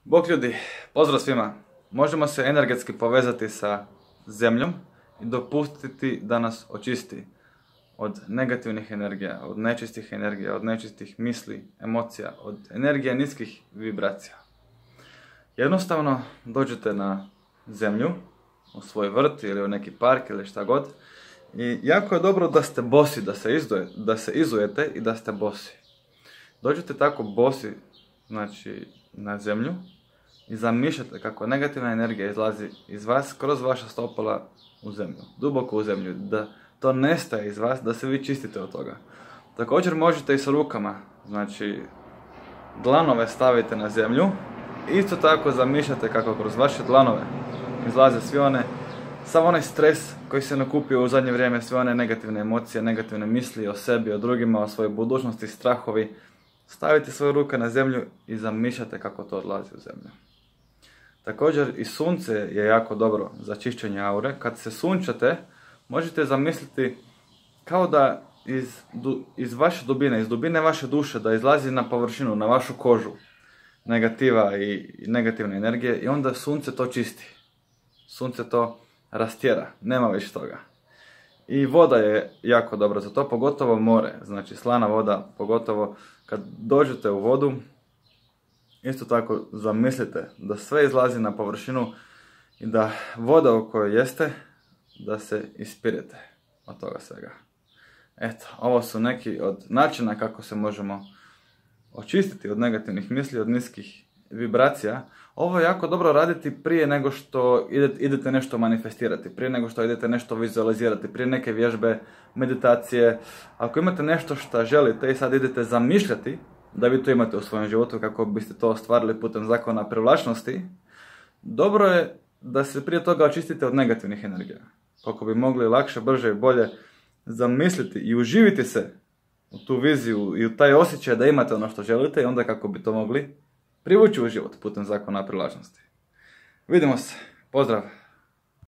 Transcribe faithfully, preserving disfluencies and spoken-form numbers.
Bog ljudi, pozdrav svima. Možemo se energetski povezati sa zemljom i dopustiti da nas očisti od negativnih energija, od nečistih energija, od nečistih misli, emocija, od energija niskih vibracija. Jednostavno dođete na zemlju, u svoj vrt ili u neki park ili šta god, i jako je dobro da ste bosi, da se, izduje, da se izujete i da ste bosi. Dođete tako bosi, znači, na zemlju i zamišljate kako negativna energija izlazi iz vas kroz vaša stopala u zemlju, duboko u zemlju, da to nestaje iz vas, da se vi čistite od toga. Također možete i sa rukama, znači dlanove stavite na zemlju, isto tako zamišljate kako kroz vaše dlanove izlaze svi one, sav onaj stres koji se nakupio u zadnje vrijeme, sve one negativne emocije, negativne misli o sebi, o drugima, o svojoj budućnosti, strahovi. Stavite svoje ruke na zemlju i zamišljate kako to odlazi u zemlju. Također i sunce je jako dobro za čišćenje aure. Kad se sunčate, možete zamisliti kao da iz, iz vaše dubine, iz dubine vaše duše, da izlazi na površinu, na vašu kožu negativa i negativne energije, i onda sunce to čisti. Sunce to rastjera, nema više toga. I voda je jako dobra za to, pogotovo more, znači slana voda, pogotovo kad dođete u vodu, isto tako zamislite da sve izlazi na površinu i da voda u kojoj jeste, da se ispirete od toga svega. Eto, ovo su neki od načina kako se možemo očistiti od negativnih misli, od niskih vibracija. Ovo je jako dobro raditi prije nego što idete nešto manifestirati, prije nego što idete nešto vizualizirati, prije neke vježbe, meditacije. Ako imate nešto što želite i sad idete zamišljati da vi to imate u svojem životu kako biste to ostvarili putem zakona privlačnosti, dobro je da se prije toga očistite od negativnih energija, kako bi mogli lakše, brže i bolje zamisliti i uživiti se u tu viziju i u taj osjećaj da imate ono što želite, i onda kako bi to mogli privući u život putem zakona privlačnosti. Vidimo se. Pozdrav!